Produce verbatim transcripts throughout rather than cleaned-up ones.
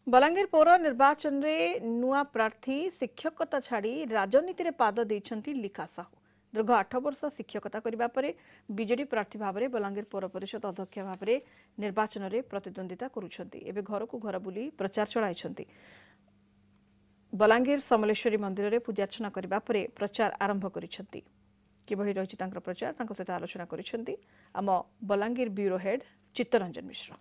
ବଲାଙ୍ଗୀର ପୌର ନିର୍ବାଚନରେ ନୂଆ ପ୍ରାର୍ଥୀ। ଶିକ୍ଷକତା ଛାଡ଼ି ରାଜନୀତିରେ ପାଦ ଦେଇଛନ୍ତି ଲିଖା ସାହୁ। ଦୀର୍ଘ ଆଠ ବର୍ଷ ଶିକ୍ଷକତା କରିବା ପରେ ବିଜେଡି ପ୍ରାର୍ଥୀ ଭାବରେ ବଲାଙ୍ଗୀର ପୌର ପରିଷଦ ଅଧ୍ୟକ୍ଷ ଭାବରେ ନିର୍ବାଚନରେ ପ୍ରତିଦ୍ୱନ୍ଦ୍ୱିତା କରୁଛନ୍ତି। ଏବେ ଘରକୁ ଘର ବୁଲି ପ୍ରଚାର ଚଳାଇଛନ୍ତି। ବଲାଙ୍ଗୀର ସମଲେଶ୍ୱରୀ ମନ୍ଦିରରେ ପୂଜାର୍ଚ୍ଚନା କରିବା ପରେ ପ୍ରଚାର ଆରମ୍ଭ କରିଛନ୍ତି। କିଭଳି ରହିଛି ତାଙ୍କର ପ୍ରଚାର, ତାଙ୍କ ସହିତ ଆଲୋଚନା କରିଛନ୍ତି ଆମ ବଲାଙ୍ଗୀର ବ୍ୟୁରୋ ହେଡ୍ ଚିତ୍ତରଞ୍ଜନ ମିଶ୍ର।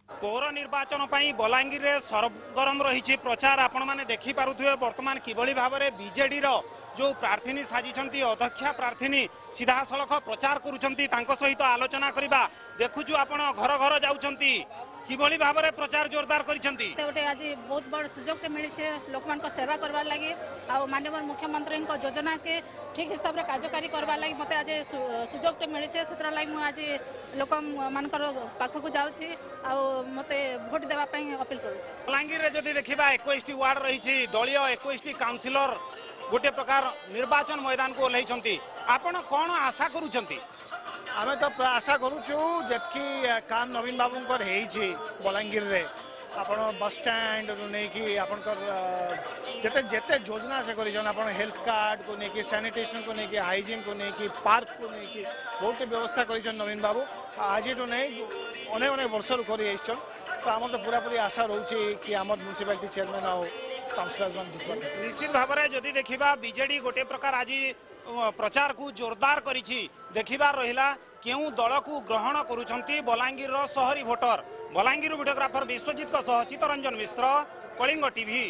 ପୌର ନିର୍ବାଚନ ପାଇଁ ବଲାଙ୍ଗୀରରେ ସରଗରମ ରହିଛି ପ୍ରଚାର। ଆପଣମାନେ ଦେଖିପାରୁଥିବେ ବର୍ତ୍ତମାନ କିଭଳି ଭାବରେ ବିଜେଡିର ଯେଉଁ ପ୍ରାର୍ଥିନୀ ସାଜିଛନ୍ତି ଅଧ୍ୟକ୍ଷା ପ୍ରାର୍ଥିନୀ, ସିଧାସଳଖ ପ୍ରଚାର କରୁଛନ୍ତି। ତାଙ୍କ ସହିତ ଆଲୋଚନା କରିବା। ଦେଖୁଛୁ ଆପଣ ଘର ଘର ଯାଉଛନ୍ତି, କିଭଳି ଭାବରେ ପ୍ରଚାର ଜୋରଦାର କରିଛନ୍ତି? ଗୋଟେ ଆଜି ବହୁତ ବଡ଼ ସୁଯୋଗଟେ ମିଳିছে ଲୋକମାନଙ୍କ ସେବା କରବାର ଲାଗି, ଆଉ ମାନ୍ୟବର ମୁଖ୍ୟମନ୍ତ୍ରୀଙ୍କ ଯୋଜନାକେ ଠିକ୍ ହିସାବରେ କାର୍ଯ୍ୟକାରୀ କରବାର ଲାଗି ମୋତେ ଆଜି ସୁଯୋଗଟେ ମିଳିছে। ସେଥିର ଲାଗି ମୁଁ ଆଜି ଲୋକମାନଙ୍କର ପାଖକୁ ଯାଉଛି ଆଉ ମୋତେ ଭୋଟ ଦେବା ପାଇଁ ଅପିଲ କରୁଛି। ବଲାଙ୍ଗୀରରେ ଯଦି ଦେଖିବା, ଏକୋଇଶଟି ୱାର୍ଡ ରହିଛି, ଦଳୀୟ ଏକୋଇଶଟି କାଉନସିଲର ଗୋଟେ ପ୍ରକାର ନିର୍ବାଚନ ମଇଦାନକୁ ଓହ୍ଲାଇଛନ୍ତି। ଆପଣ କ'ଣ ଆଶା କରୁଛନ୍ତି? ଆମେ ତ ଆଶା କରୁଛୁ, ଯେତିକି କାମ ନବୀନ ବାବୁଙ୍କର ହେଇଛି ବଲାଙ୍ଗୀରରେ, ଆପଣ ବସଷ୍ଟାଣ୍ଡରୁ ନେଇକି ଆପଣଙ୍କର ଯେତେ ଯେତେ ଯୋଜନା ସେ କରିଛନ୍, ଆପଣ ହେଲ୍ଥ କାର୍ଡ଼କୁ ନେଇକି, ସାନିଟେସନକୁ ନେଇକି, ହାଇଜିନ୍କୁ ନେଇକି, ପାର୍କକୁ ନେଇକି ବହୁତ ବ୍ୟବସ୍ଥା କରିଛନ୍ ନବୀନ ବାବୁ। ଆଜିଠୁ ନେଇ ଅନେକ ଅନେକ ବର୍ଷରୁ କରି ଆସିଛନ୍। ତ ଆମର ତ ପୁରାପୁରି ଆଶା ରହୁଛି କି ଆମର ମ୍ୟୁନିସିପାଲିଟି ଚେୟାରମ୍ୟାନ୍ ଆଉ କାଉନସିଲର୍ସ ମାନେ ଜିତିବା। ନିଶ୍ଚିତ ଭାବରେ ଯଦି ଦେଖିବା, ବିଜେଡି ଗୋଟେ ପ୍ରକାର ଆଜି ପ୍ରଚାରକୁ ଜୋରଦାର କରିଛି। ଦେଖିବାର ରହିଲା କେଉଁ ଦଳକୁ ଗ୍ରହଣ କରୁଛନ୍ତି ବଲାଙ୍ଗୀରର ସହରୀ ଭୋଟର। ବଲାଙ୍ଗୀରରୁ ଭିଡ଼ିଓଗ୍ରାଫର ବିଶ୍ୱଜିତଙ୍କ ସହ ଚିତ୍ତରଞ୍ଜନ ମିଶ୍ର, କଳିଙ୍ଗ ଟିଭି।